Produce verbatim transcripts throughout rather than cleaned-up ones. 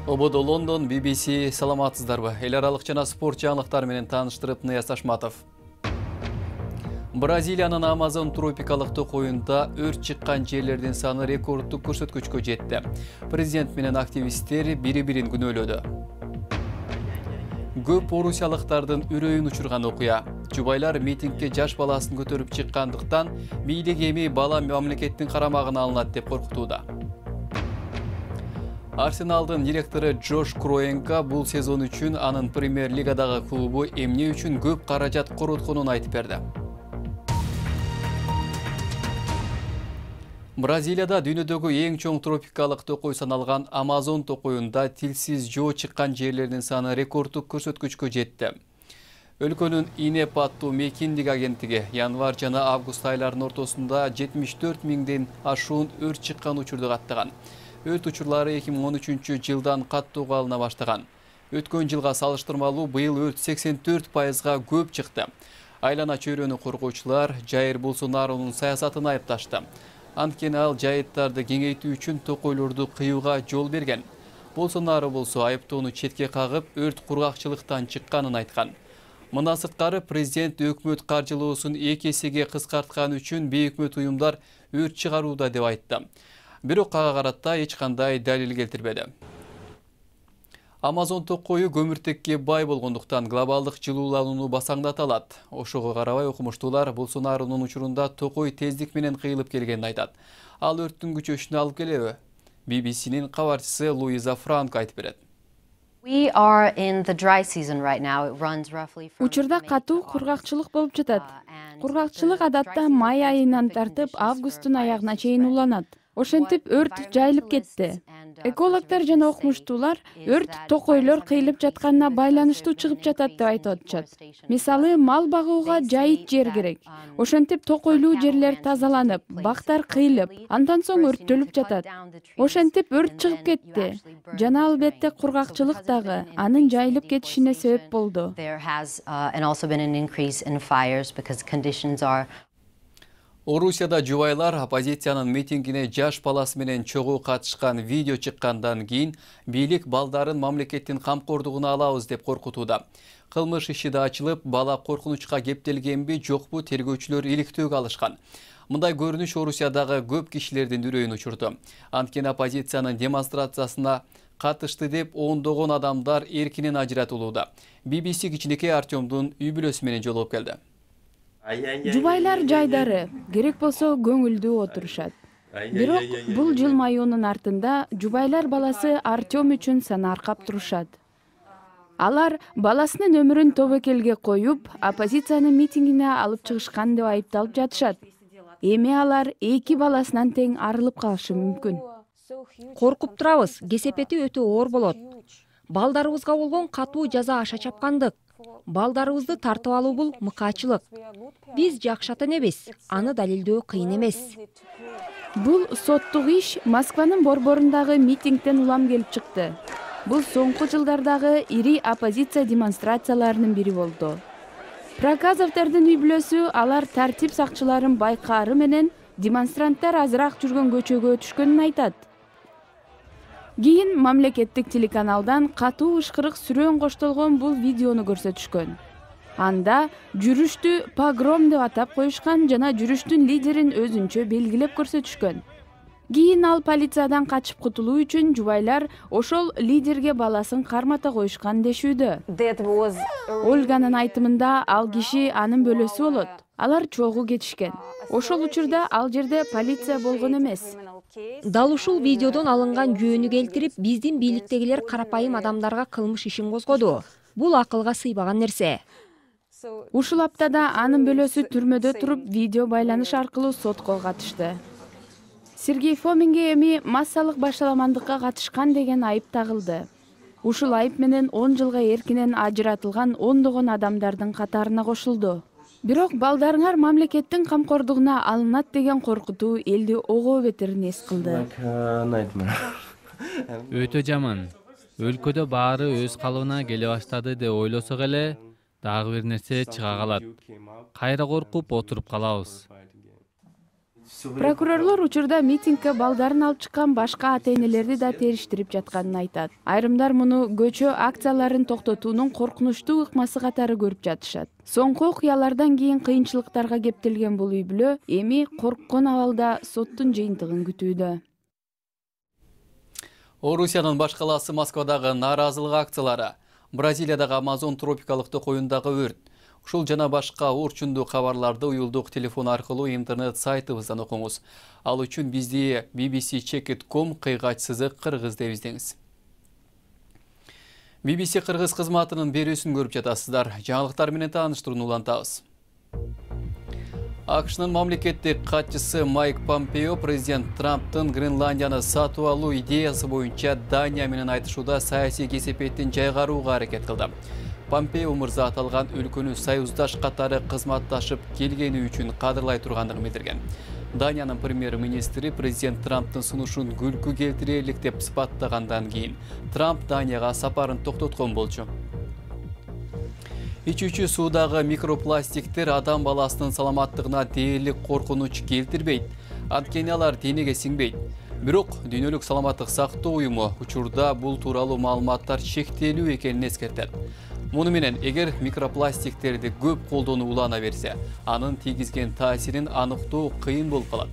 Ободо Лондон, би би си, саламатсыздарбы? Эл аралык жана спорт жаңылыктары менен тааныштырып Нияз Ашматов. Бразилиянын Амазон тропикалык токоюнда өрт чыккан жерлердин саны рекорддук көрсөткүчкө жетти. Президент менен активисттер бири-бирин күнөөлөдү. Көп орусиялыктардын үрөйүн учурган окуя. Жубайлар митингге жаш баласын көтөрүп чыккандыктан бийлик эми бала мамлекеттин карамагына алынат деп коркутууда. Арсеналдын директору Джош Кроенко бул сезон үчүн анын премьер-лигадагы клубу эмне үчүн көп каражат коротконун айтып берди. Бразилияда дүйнөдөгү эң чоң тропикалык токой саналган Амазон токоюнда тилсиз жоо чыккан жерлердин саны рекорддук көрсөткүчкө жетти. Өлкөнүн Инепатту мекиндик агенттиги январь жана август айларынын ортосунда жетимиш төрт миңден ашуун өрт чыккан учурду каттаган. Өрт учурлары эки миң он үчүнчү жылдан каттууга алына баштаган. Өткөн жылга салыштырмалуу быйыл өрт сексен төрт пайызга көп чыкты. Айлана чөйрөнү коргоочулар Жайыр Болсонарунун саясатын айыпташты. Анткени ал жайыттарды кеңейтүү үчүн токойлорду кыюуга жол берген. Болсонару болсо айыптоону четке кагып, өрт кургакчылыктан чыкканын айткан. Мындан сырткары президент өкмөт каржылоосун эки эсеге кыскарткан үчүн бейөкмөт уюмдар өрт чыгарууда деп айтты. Бирок ага карата эч кандай далил келтирбеди. Амазон токою көмүртекке бай болгондуктан глобалдык жылууланууну басаңдата алат. Ошого карабай окумуштуулар Болсонарунун учурунда токой тездик менен кыйылып келгенин айтат. Ал өрттүн күчөшүнө алып келеби? би би синин кабарчысы Луиза Франко айтып берет. Учурда катуу кургакчылык болуп жатат. Кургакчылык адатта май айынан тартып августтун аягына чейин уланат. Ошентип өрт жайылып кетти. Экологдор жана окумуштуулар өрт токойлор кыйылып жатканына байланыштуу чыгып жатат деп айтып атышат. Мисалы, мал багууга жайыт жер керек. Ошентип токойлуу жерлер тазаланып, бактар кыйылып, андан соң өрттөлүп жатат. Ошентип өрт чыгып кетти. Жана албетте кургакчылык дагы анын жайылып кетишине себеп болду. Орусияда жубайлар оппозициянын митингине жаш баласы менен чогуу катышкан видео чыккандан кийин бийлик балдарын мамлекеттин камкордугуна алабыз деп коркутууда. Кылмыш иши да ачылып, бала коркунучка кептелгенби, жокпу тергөөчүлөр иликтөөгө алышкан. Мындай көрүнүш Орусиядагы көп кишилердин үрөйүн учурду. Анткени оппозициянын демонстрациясына катышты деп ондогон адамдар эркинен ажыратылууда. би би си кичинекей Артемдун үй бүлөсү менен жолугуп келди. Жубайлар жайдары, керек болсо көңүлдүү отурушат. Бирок бул жылмаюунун артында жубайлар баласы Артем үчүн санаркап турушат. Алар баласынын өмүрүн тобокелге коюп, оппозициянын митингине алып чыгышкан деп айыпталып жатышат. Эми алар эки баласынан тең арылып калышы мүмкүн. Коркуп турабыз, кесепети өтө оор болот. Балдарыбызга болгон катуу жаза аша чапкандык. Балдарыбызды тартып алуу бул мыкаачылык. Биз жакшат эмес, аны далилдөө кыйын эмес. Бул соттук иш Москванын борборундагы митингден улам келип чыкты. Бул соңку жылдардагы ири оппозиция демонстрацияларынын бири болду. Проказовдордун үй бүлөсү алар тартип сакчыларын байкаары менен демонстранттар азыраак жүргөн көчөгө түшкөнүн айтат. Кийин мамлекеттик телеканалдан катуу ышкырык сүрөөн коштолгон бул видеону көрсөтүшкөн. Анда жүрүштү погром деп атап коюшкан жана жүрүштүн лидерин өзүнчө белгилеп көрсөтүшкөн. Кийин ал полициядан качып кутулуу үчүн жубайлар ошол лидерге баласын кармата коюшкан дешүүдө. Ольганын айтымында ал киши анын бөлөсү болот. Алар чогуу кетишкен. Ошол учурда ал жерде полиция болгон эмес. Дал ушул видеодон алынган жөөнү келтирип, биздин бийликтегилер карапайым адамдарга кылмыш ишин козгоду. Бул акылга сыйбаган нерсе. Ушул аптада анын бөлөсү түрмөдө туруп, видео байланыш аркылуу сотко катышты. Сергей Фоминге эми массалык башаламандыкка катышкан деген айып тагылды. Ушул айып менен он жылга эркинен ажыратылган ондогон адамдардын катарына кошулду. Бирок балдарыңар мамлекеттин камкордугуна алынат деген коркутуу элди ого бетер нес кылды. Өтө жаман. Өлкөдө баары өз калыбына келе баштады деп ойлосок эле, дагы бир нерсе чыга калат. Кайра коркуп отуруп калабыз. Прокурорлор учурда митингге балдарын алып чыккан башка ата-энелерди да териштирип жатканын айтат. Айрымдар муну көчө акцияларын токтотуунун коркунучтуу ыкмасы катары көрүп жатышат. Соңку окуялардан кийин кыйынчылыктарга кептелген бул үй бүлө эми корккон абалда соттун жыйынтыгын күтүүдө. Орусиянын баш калаасы Москвадагы нааразылык акциялары, Бразилиядагы Амазон тропикалык токоюндагы өрт, ушул жана башка орчундуу кабарларды уюлдук телефон аркылуу интернет сайтыбыздан окуңуз. Ал үчүн бизди би би си чек точка ком кыйгач сызык кыргыз деп издеңиз. би би си кыргыз кызматынын берүүсүн көрүп жатасыздар. Жаңылыктар менен тааныштырууну улантабыз. АКШнын мамлекеттик катчысы Майк Помпео президент Трамптын Гренландияны сатып алуу идеясы боюнча Дания менен айтышууда саясий кесепеттин жайгарууга аракет кылды. Помпео мырза аталган өлкөнүн союздаш катары кызматташып келгени үчүн кадырлай тургандыгын билдирген. Даниянын премьер-министри президент Трамптын сунушун күлкү келтирерлик деп сыпаттагандан кийин Трамп Данияга сапарын токтоткон болчу. Ичүүчү суудагы микропластиктер адам баласынын саламаттыгына дээрлик коркунуч келтирбейт. Анткени алар денеге сиңбейт. Бирок Дүйнөлүк саламаттык сактоо уюму учурда бул тууралуу маалыматтар чектелүү экенин эскертет. Муну менен эгер микропластиктерди көп колдонуу улана берсе, анын тийгизген таасирин аныктоо кыйын болуп калат.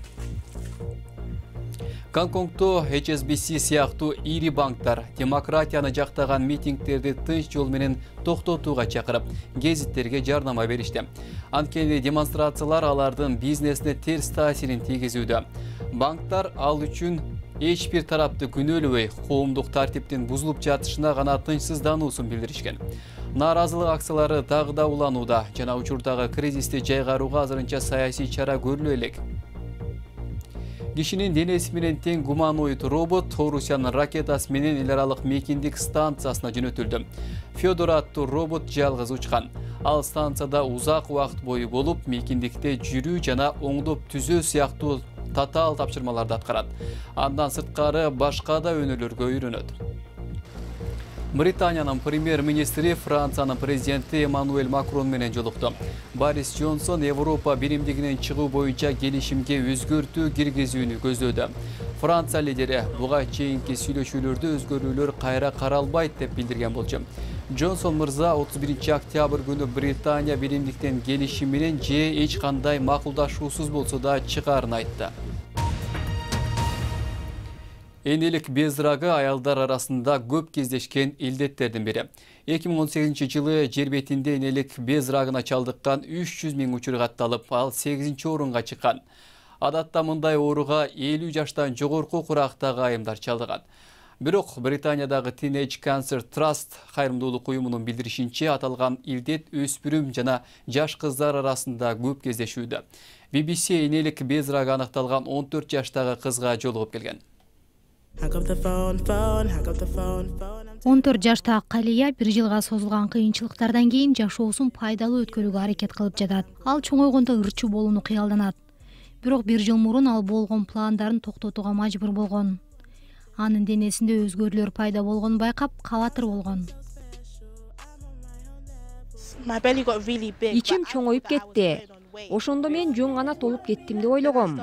Гонконгдо эйч эс би си сыяктуу ири банктар демократияны жактаган митингтерди тынч жол менен токтотууга чакырып, гезиттерге жардама беришти. Анткени демонстрациялар алардын бизнесине терс таасирин тийгизүүдө. Банктар ал үчүн эч бир тарапты күнөөлөбөй, коомдук тартиптин бузулуп жатышына гана тынчсыздануусун билдиришкен. Нааразылык акциялары дагы да уланууда жана учурдагы кризисти жайгарууга азырынча саясий чара көрүлө элек. Кишинин денеси менен тең гуманоид робот Орусиянын ракетасы менен эл аралык мейкиндик станциясына жөнөтүлдү. Федор аттуу робот жалгыз учкан. Ал станцияда узак убакыт бою болуп, мейкиндикте жүрүү жана оңдоп түзөө сыяктуу татаал тапшырмаларды аткарат. Андан сырткары башка да өнөөлөргө үйрөнөт. Британиянын премьер-министри Франциянын президенти Эммануэль Макрон менен жолукту. Борис Джонсон Европа биримдигинен чыгуу боюнча келишимге өзгөртүү киргизүүнү көздөдү. Франция лидери буга чейинки сүйлөшүүлөрдө өзгөрүүлөр кайра каралбайт деп билдирген болчу. Джонсон мырза отуз биринчи октябрь күнү Британия биримдиктен келишим менен же эч кандай макулдашуусуз болсо да чыгаарын айтты. Энелик безрагы аялдар арасында көп кездешкен илдеттердин бири. эки миң он сегизинчи жылы жер бетинде энелик безрагына чалдыккан үч жүз миң учур катталып, ал сегизинчи орунга чыккан. Адатта мындай ооруга элүү жаштан жогорку курактагы айымдар чалдыгат. Бирок Британиядагы Teenage Cancer Trust кайрымдуулук уюмунун билдиришинче, аталган илдет өспүрүм жана жаш кыздар арасында көп кездешүүдө. би би си энелик безрагы аныкталган он төрт жаштагы кызга жолугуп келген. он төрт жаштагы Калия бир жылга созулган кыйынчылыктардан кийин жашоосун пайдалуу өткөрүүгө аракет кылып жатат. Ал чоңойгондо ырчуу болууну кыялданат. Бирок бир жыл мурун ал болгон пландарын токтотууга мажбур болгон. Анын денесинде өзгөрүүлөр пайда болгонун байкап, кабатыр болгон. Ичим чоңоюп кетти. Ошондо мен жөн гана толуп кеттим деп ойлогом.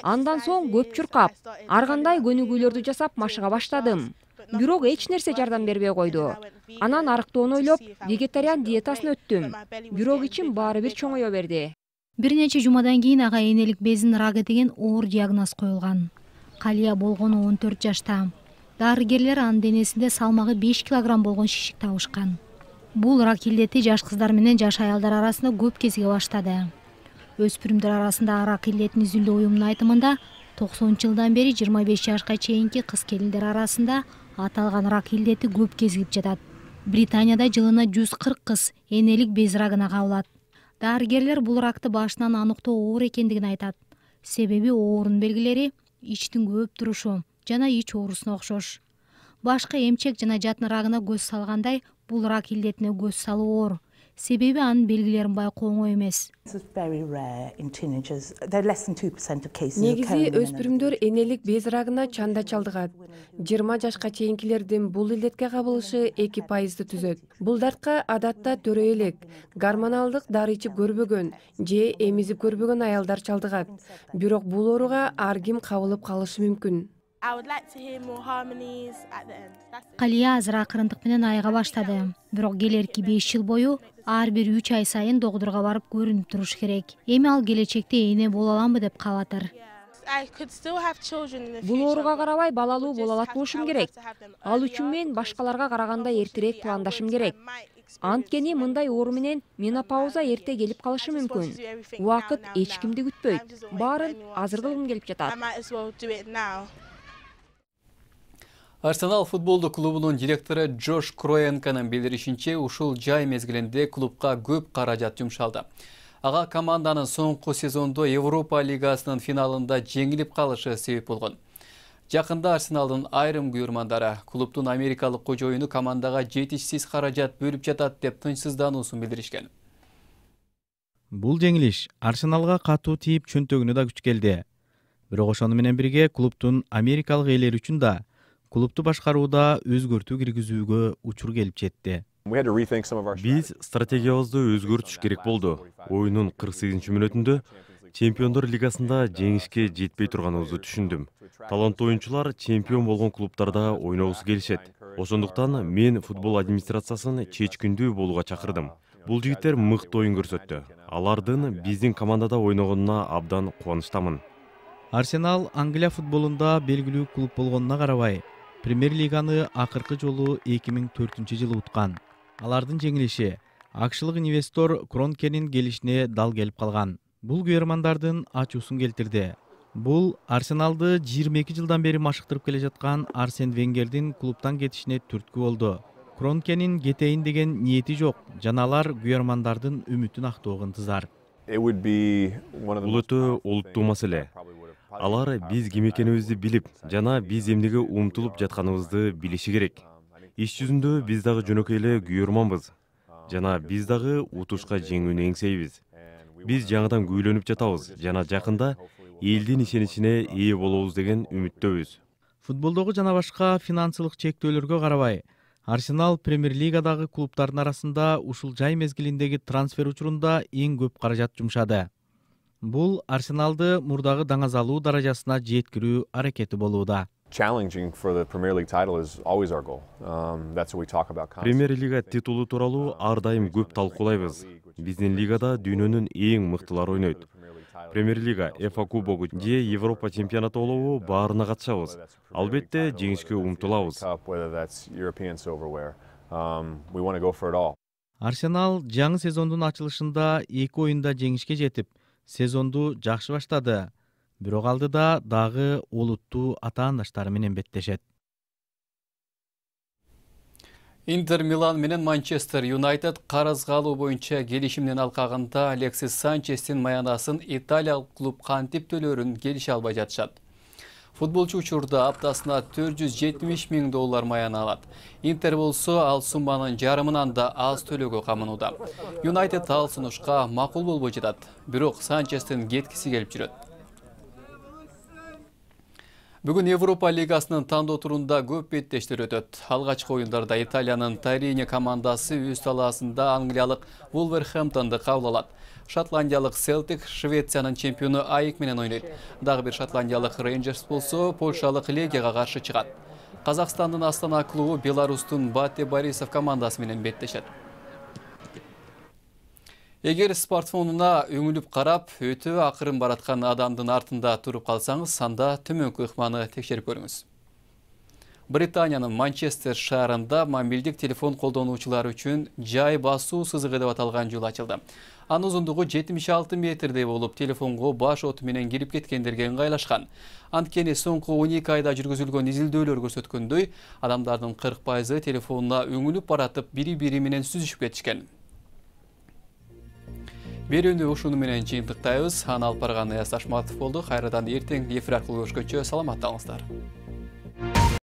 Андан соң көп чуркап, ар кандай көнүгүүлөрдү жасап машыга баштадым. Бирок эч нерсе жардам бербей койду. Анан арыктоону ойлоп, вегетариан диетасын өттүм. Бирок ичим баары бир чоңое берди. Бир нече жумадан кийин ага энелик безин рагы деген оор диагноз коюлган. Калия болгону он төрт жашта. Дарыгерлер анын денесинде салмагы беш килограмм болгон шишик табышкан. Бул рак илдети жаш кыздар менен жаш аялдар арасында көп кезиге баштады. Өспүрүмдөр арасында рак илдетин изилдөө уюмунун айтымында токсонунчу жылдан бери жыйырма беш жашка чейинки кыз-келиндер арасында аталган рак илдети көп кезигип жатат. Британияда жылына жүз кырк кыз энелик без рагына кабылат. Дарыгерлер бул ракты башынан аныктоо оор экендигин айтат. Себеби оорунун белгилери ичтин көп турушу жана ич оорусуна окшош. Башка эмчек жана жатын рагына көз салгандай, бул рак илдетине көз салуу оор. себеби анын белгилерин байкоо оңой эмес. Негизи өспүрүмдөр энелик без рагына чанда чалдыгат. жыйырма жашка чейинкилердин бул илдетке кабылышы эки пайызды түзөт. Бул дартка адатта төрөй элек, гормоналдык дары ичип көрбөгөн же эмизип көрбөгөн аялдар чалдыгат. Бирок бул ооруга ар ким кабылып калышы мүмкүн. Калия азыр акырындык менен айыга баштады. Бирок келерки беш жыл бою ар бир үч ай сайын докторго барып көрүнүп туруш керек. Эми ал келечекте эне боло аламбы деп каалатыр. Бул ооруга карабай балалуу боло алат болушум керек. Ал үчүн мен башкаларга караганда эртерээк пландашым керек. Анткени мындай оору менен менопауза эрте келип калышы мүмкүн. Убакыт эч кимди күтпөйт. Баарын азыр кылгым келип жатат. Арсенал футболдук клубунун директору Джош Кроенканын билдиришинче, ушул жай мезгилинде клубка көп каражат жумшалды. Ага команданын соңку сезондо Европа лигасынын финалында жеңилип калышы себеп болгон. Жакында Арсеналдын айрым күйөрмандары клубдун америкалык кожоюну командага жетишсиз каражат бөлүп жатат деп тынчсыздануусун билдиришкен. Бул жеңилиш Арсеналга катуу тийип чөнтөгүнө да күч келди. Бирок ошону менен бирге клубдун америкалык ээлери үчүн да клубду башкарууда өзгөртүү киргизүүгө учур келип жетти. Биз стратегиябызды өзгөртүш керек болду. Оюнун кырк сегизинчи мүнөтүндө Чемпиондор лигасында жеңишке жетпей турганыбызды түшүндүм. Таланттуу оюнчулар чемпион болгон клубтарда ойногусу келишет. Ошондуктан мен футбол администрациясын чечкиндүү болууга чакырдым. Бул жигиттер мыкты оюн көрсөттү. Алардын биздин командада ойногонуна абдан кубанычтамын. Арсенал Англия футболунда белгилүү клуб болгонуна карабай, Премьер-лиганы акыркы жолу эки миң төртүнчү жылы уткан. Алардын жеңилиши акшылык инвестор Кронкенин келишине дал келип калган. Бул күйөрмандардын ачуусун келтирди. Бул Арсеналды жыйырма эки жылдан бери машыктырып келе жаткан Арсен Венгердин клубтан кетишине түрткү болду. Кронкенин кетейин деген ниети жок, жана алар күйөрмандардын үмүтүн актоого ынтызар. Бул өтө олуттуу маселе. Алар биз ким экенибизди билип, жана биз эмнеге умтулуп жатканыбызды билиши керек. Иш жүзүндө биз дагы жөнөкөй эле күйөрманбыз. Жана биз дагы утушка жеңүүнү эңсейбиз. Биз жаңыдан күйлөнүп жатабыз жана жакында элдин ишеничине ээ болобуз деген үмүттөбүз. Футболдогу жана башка финансылык чектөөлөргө карабай, Арсенал Премьер-лигадагы клубтардын арасында ушул жай мезгилиндеги трансфер учурунда эң көп каражат жумшады. Бул Арсеналды мурдагы даңазалуу даражасына жеткирүү аракети болууда. Премьер-лига титулу тууралуу ар дайым көп талкуулайбыз. Биздин лигада дүйнөнүн эң мыктылары ойнойт. Премьер-лига, эф а кубогу же Европа чемпионаты болобу баарына катышабыз. Албетте жеңишке умтулабыз. Арсенал жаңы сезондун ачылышында эки оюнда жеңишке жетип, сезонду жакшы баштады. Бирок алдыда дагы олуттуу атаандаштары менен беттешет. Интер Милан менен Манчестер Юнайтед карызга алуу боюнча келишимдин алкагында Алексис Санчестин маянасын италиялык клуб кантип төлөөрүн келише албай жатышат. Футболчу учурда аптасына төрт жүз жетимиш миң доллар маяна алат. Интер болсо ал сумманын жарымынан да аз төлөөгө камынууда. Юнайтед ал сунушка макул болбой жатат. Бирок Санчестин кеткиси келип жүрөт. Бүгүн Европа лигасынын тандоо турунда көп беттештер өтөт. Алгачкы оюндарда Италиянын Торино командасы өз талаасында англиялык Вулверхэмптонду кабыл алат. Шотландиялык Селтик Швециянын чемпиону Айк менен ойнойт. Дагы бир шотландиялык Рейнджерс болсо Польшалык Легияга каршы чыгат. Казакстандын Астана клубу Беларустун Бате Борисов командасы менен беттешет. Эгер смартфонуна өңүлүп карап, өтө акырын бараткан адамдын артында туруп калсаңыз, анда төмөнкү ыкманы текшерип көрүңүз. Британиянын Манчестер шаарында мобилдик телефон колдонуучулар үчүн жай басуу сызыгы деп аталган жол ачылды. Анын узундугу жетимиш алты метрдей болуп, телефонго баш оту менен кирип кеткендерге ыңгайлашкан. Анткени соңку он эки айда жүргүзүлгөн изилдөөлөр көрсөткөндөй, адамдардын кырк пайызы телефонуна өңүлүп баратып, бири-бири менен сүзүшүп кетишкен. Берүүнү ушуну менен жыйынтыктайбыз. Аны алып барган Аяз Ташматов болду. Кайрадан эртең эфир аркылуу көрүшкөнчө саламатта калыңыздар.